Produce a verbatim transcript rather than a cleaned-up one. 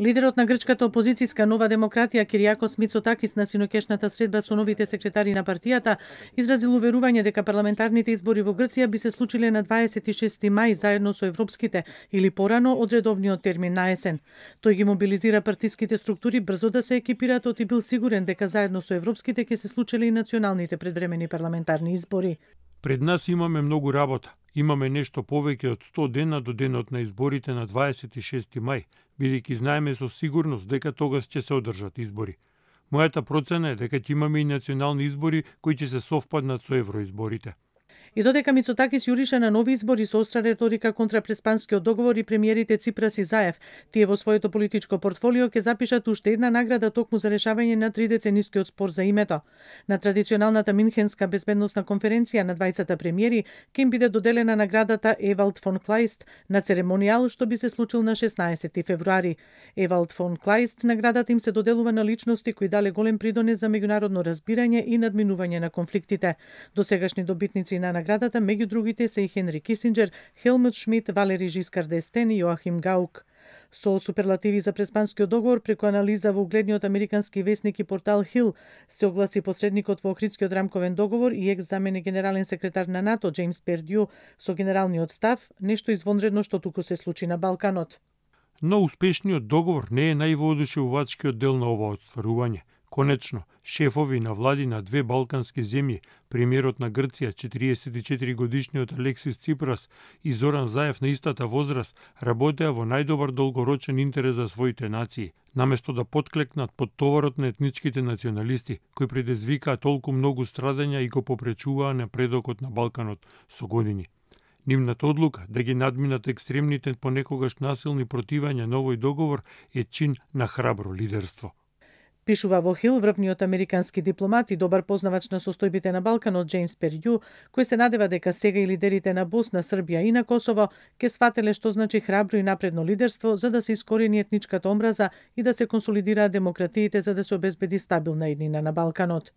Лидерот на грчката опозицијска Нова демократија Киријакос Мицотакис на синокешната средба со новите секретари на партијата изразил уверување дека парламентарните избори во Грција би се случиле на дваесет и шести мај заедно со европските или порано од редовниот термин на есен. Тој ги мобилизира партиските структури брзо да се екипираат и бил сигурен дека заедно со европските ќе се случеле и националните предвремени парламентарни избори. Пред нас имаме многу работа. Имаме нешто повеќе од сто дена до денот на изборите на дваесет и шести мај, бидејќи знаеме со сигурност дека тогаш ќе се одржат избори. Мојата процена е дека ќе имаме и национални избори кои ќе се совпаднат со евроизборите. И додека Мицотакис јурише на нови избори со остра реторика контра Преспанскиот договор и премиерите Ципрас и Заев, тие во своето политичко портфолио ќе запишат уште една награда токму за решавање на тридеценискиот спор за името. На традиционалната Минхенска безбедносна конференција на двајцата премиери ќе им биде доделена наградата Евалд фон Клајст на церемонијал што би се случил на шеснаесети февруари. Евалд фон Клајст наградата им се доделува на личности кои дале голем придонес за меѓународно разбирање и надминување на конфликтите. Досегашни добитници на наградата меѓу другите се и Хенри Кисинџер, Хелмут Шмид, Валери Жискар д'Естен и Јоахим Гаук. Со суперлативи за Преспанскиот договор преку анализа во угледниот американски весник и портал Хил се огласи посредникот во Охридскиот рамковен договор и екс заменик генерален секретар на НАТО Џејмс Пердју со генералниот став, нешто извонредно што туку се случи на Балканот. Но успешниот договор не е највоодушевувачкиот дел на ова отстварување. Конечно, шефови на влади на две балкански земји, премиерот на Грција, четириесет и четири годишниот Алексис Ципрас и Зоран Заев на истата возраст, работеа во најдобар долгорочен интерес за своите нации, наместо да подклекнат под товарот на етничките националисти, кои предизвикаа толку многу страдања и го попречуваа напредокот на Балканот со години. Нивната одлука да ги надминат екстремните понекогаш насилни противања на овој договор е чин на храбро лидерство. Пишува во Хил врвниот американски дипломат и добар познавач на состојбите на Балканот Џејмс Пердју, кој се надева дека сега и лидерите на Босна, Србија и на Косово ќе свателе што значи храбро и напредно лидерство за да се искорени етничката омраза и да се консолидираат демократиите за да се обезбеди стабилна иднина на Балканот.